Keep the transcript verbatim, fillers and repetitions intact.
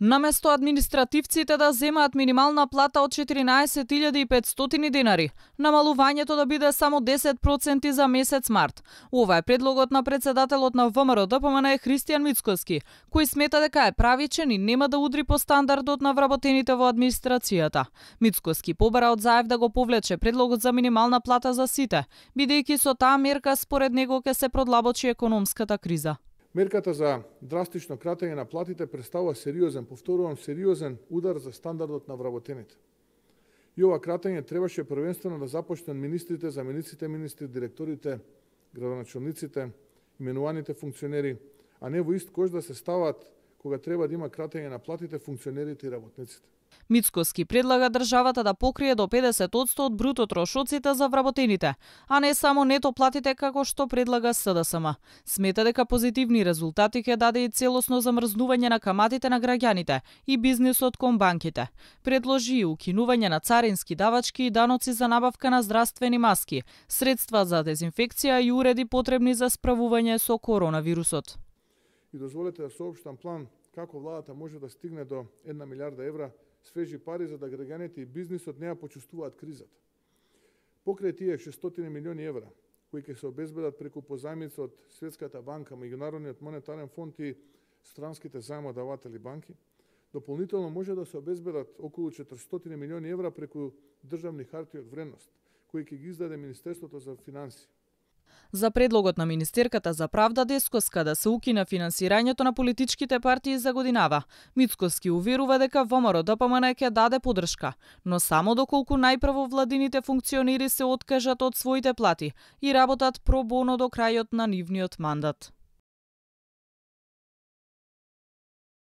Наместо административците да земаат минимална плата од четиринаесет илјади и петстотини денари, намалувањето да биде само десет проценти за месец март. Ова е предлогот на председателот на ВМРО Д П М Н Христијан Мицкоски, кој смета дека е правичен и нема да удри по стандардот на вработените во администрацијата. Мицкоски побара од Заев да го повлече предлогот за минимална плата за сите, бидејќи со таа мерка според него ќе се продлабочи економската криза. Мерката за драстично кратење на платите представува сериозен, повторувам, сериозен удар за стандардот на вработените. И ова кратење требаше првенствено да започне од министрите, замениците министри, директорите, градоначалниците, именуваните функционери, а не во ист кош да се стават кога треба да има кратење на платите функционерите и работниците. Мицкоски предлага државата да покрие до педесет одсто од бруто трошоците за вработените, а не само нето платите како што предлага С Д С М. Смета дека позитивни резултати ќе даде и целосно замрзнување на каматите на граѓаните и бизнисот кон банките. Предложи и укинување на царински давачки и даноци за набавка на здравствени маски, средства за дезинфекција и уреди потребни за справување со коронавирусот. И дозволете да соопштам план како владата може да стигне до една милиарда евра свежи пари за да граѓаните и бизнисот не ја почувствуваат кризата. Покрај тие шестстотини милиони евра, кои ќе се обезбедат преку позајмици од Светската банка, Меѓународниот монетарен фонд и странските заемодаватели банки, дополнително може да се обезбедат околу четиристотини милиони евра преку државни харти од вредност, кои ќе ги издаде Министерството за финансии. За предлогот на Министерката за правда Дескоска да се укине финансирањето на политичките партии за годинава, Мицкоски уверува дека ВМРО Д П М Н ќе даде поддршка, но само доколку најпрво владините функционери се откажат од своите плати и работат про боно до крајот на нивниот мандат.